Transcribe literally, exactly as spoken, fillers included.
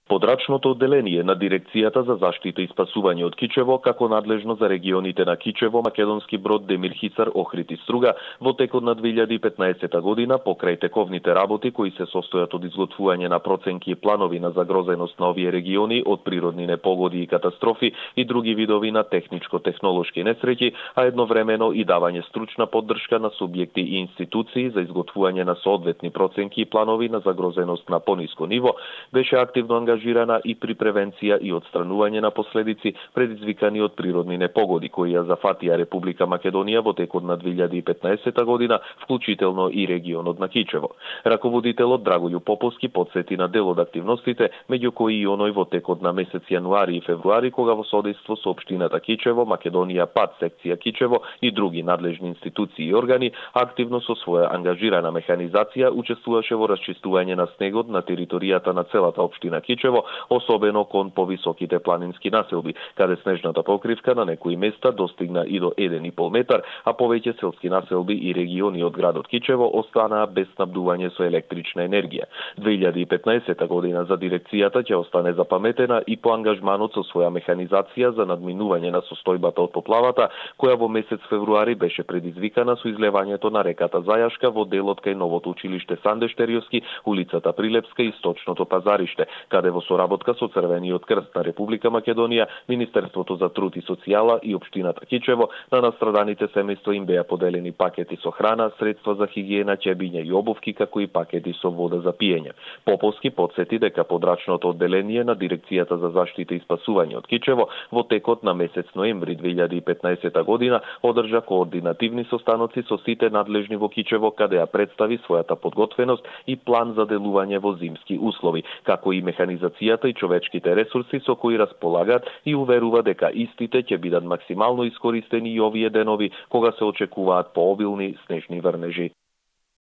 Подрачното одделение на Дирекцијата за заштита и спасување од Кичево, како надлежно за регионите на Кичево, Македонски Брод, Демир Хисар, Охрид и Струга, во текот на две илјади и петнаесета година, покрај тековните работи кои се состојат од изготвување на проценки и планови на загрозеност на овие региони од природни непогоди и катастрофи и други видови на техничко-технолошки несреќи, а едновремено и давање стручна поддршка на субјекти и институции за изготвување на соодветни проценки и планови на загрозеност на пониско ниво, беше активно ангажирана и при превенција и отстранување на последици предизвикани од природни непогоди кои ја зафатија Република Македонија во текот на две илјади и петнаесета година, вклучително и регионот на Кичево. Раководителот Драголју Поповски потсети на дел од активностите, меѓу кои и оној во текот на месец јануари и февруари, кога во содејство со општината Кичево, Македонија ПАД секција Кичево и други надлежни институции и органи, активно со своја ангажирана механизација учествуваше во расчистување на снегот на територијата на целата општина Кичево, особено кон повисоките планински населби, каде снежната покривка на некои места достигна и до еден и пол метар, а повеќе селски населби и региони од градот Кичево останаа без снабдување со електрична енергија. две илјади и петнаесета година за дирекцијата ќе остане запаметена и по ангажманот со своја механизација за надминување на состојбата од поплавата, која во месец февруари беше предизвикана со излевањето на реката Зајашка во делот кај новото училиште Санде Штериовски, улицата Прилепска и Источното пазариште, каде во соработка со Црвениот крст на Република Македонија, Министерството за труд и социјала и општината Кичево на настраданите семејства им беа поделени пакети со храна, средства за хигиена, ќебиња и обувки, како и пакети со вода за пиење. Поповски потсети дека подрачното одделение на Дирекцијата за заштита и спасување од Кичево во текот на месец ноември две илјади и петнаесета година одржа координативни состаноци со сите надлежни во Кичево, каде ја представи својата подготвеност и план за делување во зимски услови, како и механизацијата и човечките ресурси со кои располагаат и уверува дека истите ќе бидат максимално искористени и овие денови кога се очекуваат пообилни снежни врнежи.